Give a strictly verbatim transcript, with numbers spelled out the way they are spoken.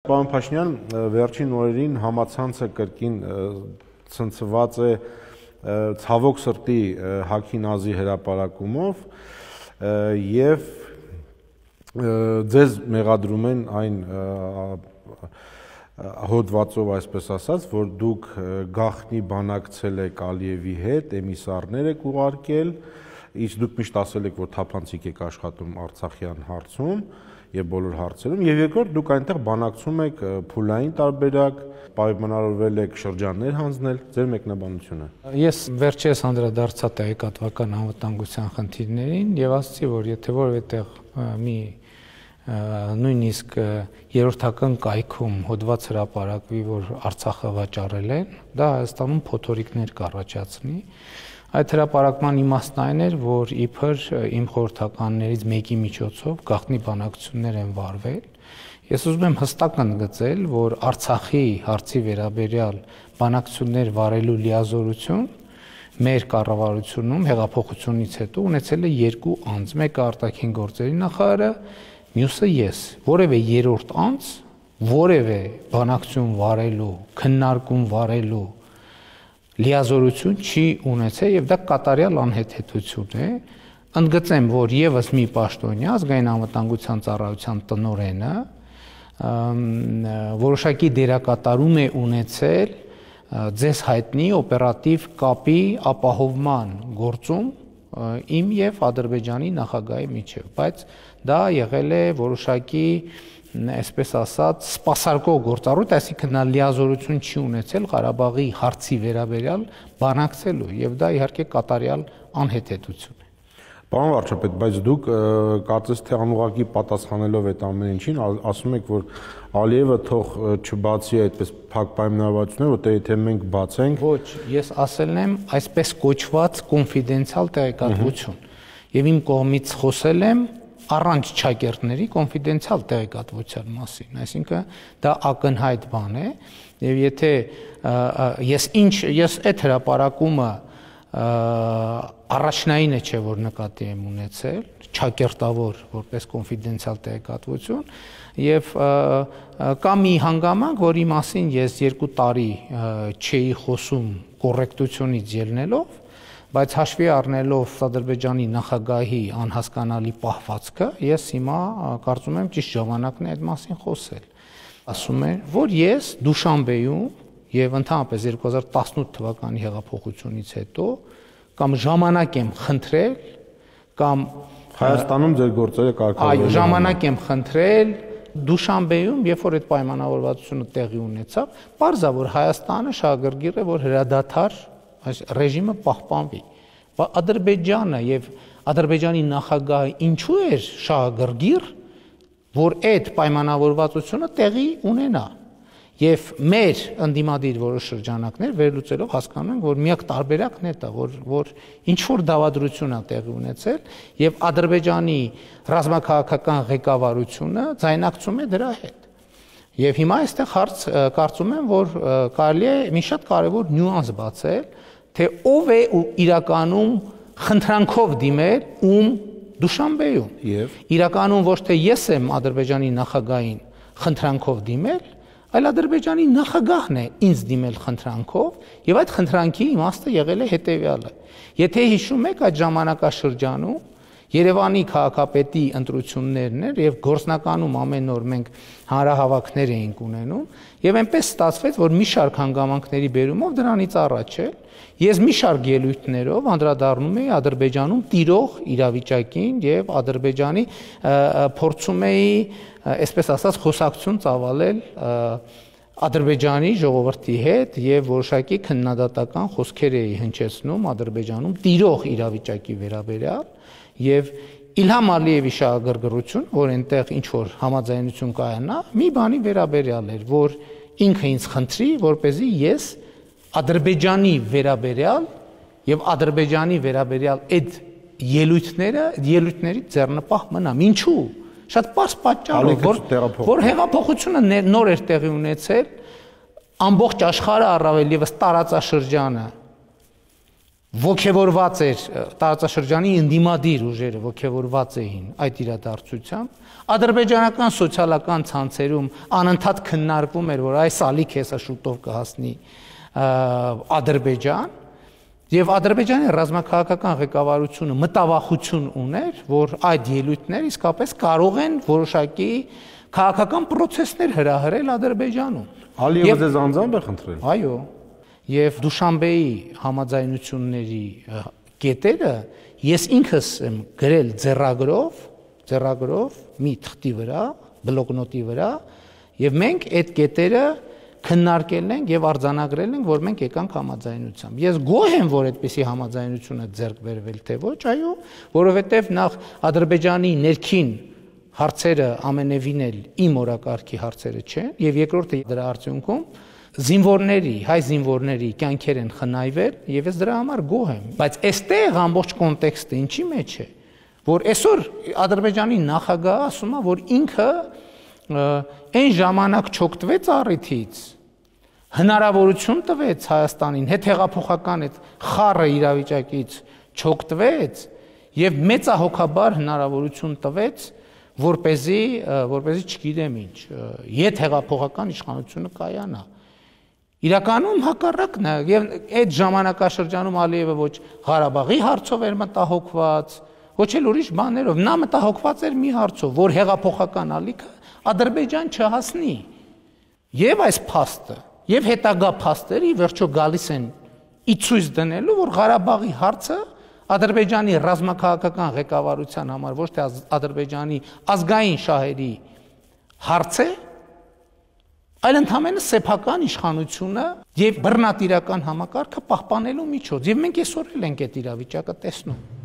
Պարոն Փաշինյան, վերջին օրերին համացանցը կրկին ցնցված է ցավոք սրտի Հաքի Նազի հրապարակումով եւ ձեզ մեղադրում են այն հոդվածով, այսպես ասած, որ դուք գաղտնի բանակցել եք Ալիևի հետ, էմիսարներ եք ուղարկել, իսկ դուք միշտ ասել եք, որ թափանցիկ եք աշխատում Արցախյան հարցում եւ բոլոր հարցերում, եւ երկրորդ դուք այնտեղ բանակցում եք փուլային տարբերակ, պայմանավորվել եք շրջաններ հանձնել, ձեր մեկնաբանությունը։ Ես վերջերս անդրադարձա տեղեկատվական անվտանգության խնդիրներին եւ ասացի, որ եթե որևէ տեղ մի նույնիսկ երրորդական կայքում հոդված հրապարակվի, որ Արցախը վաճառել են, դա Հայաստանում փոթորիկներ կառաջացնի։ Այդ հրապարակման իմաստն այն էր, որ իբր իմ խորհրդականներից մեկի միջոցով գաղտնի բանակցություններ են վարվել։ Ես ուզում եմ հստակ ընդգծել, որ Արցախի հարցի վերաբերյալ բանակցություններ վարելու լիազորություն մեր կառավարությունում հեղափոխությունից հետո ունեցել է երկու անձ, մեկը արտաքին գործերի նախարարը, մյուսը ես։ Որևէ երրորդ անձ, որևէ բանակցություն վարելու, քննարկում վարելու լիազորություն չի ունեցել եւ դա կատարյալ անհեթեթություն է։ Ընդգծեմ, որ եւս մի պաշտոնյա ազգային անվտանգության ծառայության տնօրենը որոշակի դերակատարում է ունեցել ձեզ հայտնի օպերատիվ կապի ապահովման գործում իմ եւ Ադրբեջանի նախագահի միջեւ, բայց դա եղել է որոշակի այսպես ասած սպասարկող գործառույթ, այսինքն նա լիազորություն չի ունեցել Ղարաբաղի հարցի վերաբերյալ բանակցելու եւ դա իհարկե կատարյալ անհեթեթություն է։ Պարոն վարչապետ, բայց դուք կարծես թե անուղղակի պատասխանելով այդ ամեն ինչին ասում եք, որ Ալիևը թող չբացի այդպես փակ պայմանավորվածություններ, որտեղ եթե մենք բացենք։ Ոչ, ես ասել եմ այսպես կոչված կոնֆիդենցիալ տեղեկատվություն եւ իմ կողմից խոսել եմ առանց ճակերտների կոնֆիդենցիալ տեղեկատվության մասին, այսինքն դա ակնհայտ բան է եւ եթե ես ինչ ես այդ հրապարակումը առաջնայինը չէ որ նկատի եմ ունեցել, ճակերտավոր որպես կոնֆիդենցիալ տեղեկատվություն եւ կա մի հանգամանք, որի մասին ես երկու տարի չէի խոսում կոռեկտությունից ելնելով, բայց հաշվի առնելով Ադրբեջանի նախագահի անհասկանալի պահվածքը, ես հիմա կարծում եմ ճիշտ ժամանակն է այդ մասին խոսել։ Ասում է, որ ես Դուշանբեում եւ ընդհանրապես երկու հազար տասնութ թվականի հեղափոխությունից հետո կամ ժամանակ եմ խնդրել կամ Հայաստանում ձեր գործերը կարգավորել։ Այո, ժամանակ եմ խնդրել Դուշանբեում, երբ որ այդ պայմանավորվածությունը տեղի ունեցավ, պարզա որ Հայաստանը շահագրգիռ է, որ հրադադար այս ռեժիմը պահպանվի։ Ադրբեջանը եւ Ադրբեջանի նախագահը ինչու էր շահագրգիռ, որ այդ պայմանավորվածությունը տեղի ունենա։ Եվ մեր ընդդիմադիր որոշ շրջանակներ վերլուծելով հասկանում ենք, որ միակ տարբերակն է դա, որ որ ինչ որ դավադրություն է տեղի ունեցել եւ Ադրբեջանի ռազմաքաղաքական ղեկավարությունը ձայնակցում է դրա հետ։ Եվ հիմա այստեղ հարց կարծում եմ, որ կարելի է մի շատ կարևոր նյուանս բացել, թե ով է իրականում խնդրանքով դիմել ում Դուշանբեում։ Եվ իրականում ոչ թե ես եմ Ադրբեջանի նախագահին խնդրանքով դիմել, այլ Ադրբեջանի նախագահն է ինձ դիմել խնդրանքով, եւ այդ խնդրանքի իմաստը եղել է հետեւյալը։ Եթե հիշում եք, այդ ժամանակաշրջանում Երևանի քաղաքապետի ընտրություններն էր եւ գործնականում ամեն օր մենք հանրահավաքներ էինք ունենում եւ այնպես ստացվեց, որ մի շարք հանգամանքների բերումով դրանից առաջ է ես մի շարք ելույթներով անդրադառնում էի Ադրբեջանում տիրող իրավիճակին եւ Ադրբեջանի փորձում էի, այսպես ասած, խոսակցություն ծավալել Ադրբեջանի ժողովրդի հետ եւ որոշակի քննադատական խոսքեր էի հնչեցնում Ադրբեջանում տիրող իրավիճակի վերաբերյալ եւ Իլհամ Ալիևի շահագրգռություն, որ այնտեղ ինչ որ համաձայնություն կայանա, մի բանի վերաբերյալ էր, որ ինքը ինձ խնդրի, որպեսզի ես Ադրբեջանի վերաբերյալ եւ Ադրբեջանի վերաբերյալ այդ ելույթները, ելույթների ձեռնպահ մնամ։ Ինչու՞։ Շատ պարզ պատճառ է, որ որ հեղափոխությունը նոր էր տեղի ունեցել, ամբողջ աշխարհը առավել եւս տարածաշրջանը ոգևորված էր տարածաշրջանի ընդդիմադիր ուժերը ոգևորված էին այդ իրադարձությամբ, ադրբեջանական սոցիալական ցանցերում անընդհատ քննարկվում էր, որ այս ալիք հեսա շուտով կհասնի Ադրբեջան, եւ Ադրբեջանի ռազմաքաղաքական ղեկավարությունը մտավախություն ուներ, որ այդ ելույթները իսկապես կարող են որոշակի քաղաքական process-ներ հրահրել Ադրբեջանում։ Ալիևը ձեզ անձամբ է խնդրել։ Այո, եւ Դուշանբեի համաձայնությունների կետերը ես ինքս եմ գրել ձեռագրով, ձեռագրով մի թղթի վրա, բլոկնոտի վրա, եւ մենք այդ կետերը քննարկել ենք եւ արձանագրել ենք, որ մենք եկանք համաձայնությամբ։ Ես գոհ եմ, որ այդպիսի համաձայնություն է ձեռք բերվել, թե ոչ, այո, որովհետեւ նախ Ադրբեջանի ներքին հարցերը ամենևին էլ իմ օրակարգի հարցերը չեն, եւ երկրորդը դրա արդյունքում զինվորների, հայ զինվորների կյանքեր են խնայվել, եւ ես դրա համար գոհ եմ, բայց այստեղ ամբողջ կոնտեքստը ինչի մեջ է, որ այսօր Ադրբեջանի նախագահը ասում է, որ ինքը այն ժամանակ չօգտվեց առիթից, հնարավորություն տվեց Հայաստանին հետհեղափոխական այդ խառը իրավիճակից չօգտվեց եւ մեծահոգաբար հնարավորություն տվեց, որպեսզի որպեսզի չգիտեմ ինչ, եթ հեղափոխական իշխանությունը կայանա։ Իրականում հակառակն է, եւ այդ ժամանակաշրջանում Ալիևը ոչ Ղարաբաղի հարցով էր մտահոգված, ոչ էլ ուրիշ բաներով, նա մտահոգված էր մի հարցով, որ հեղափոխական ալիքը Ադրբեջան չհասնի։ Եվ այս փաստը, եւ հետագա փաստերը ի վերջո գալիս են ի ցույց դնելու, որ Ղարաբաղի հարցը Ադրբեջանի ռազմաքաղաքական ղեկավարության համար ոչ թե Ադրբեջանի ազգային շահերի հարց է, այլ ընդհանրապես սեփական իշխանությունը եւ բռնատիրական համակարգը պահպանելու միջոց։ Եվ մենք այսօր էլ ենք այդ իրավիճակը տեսնում։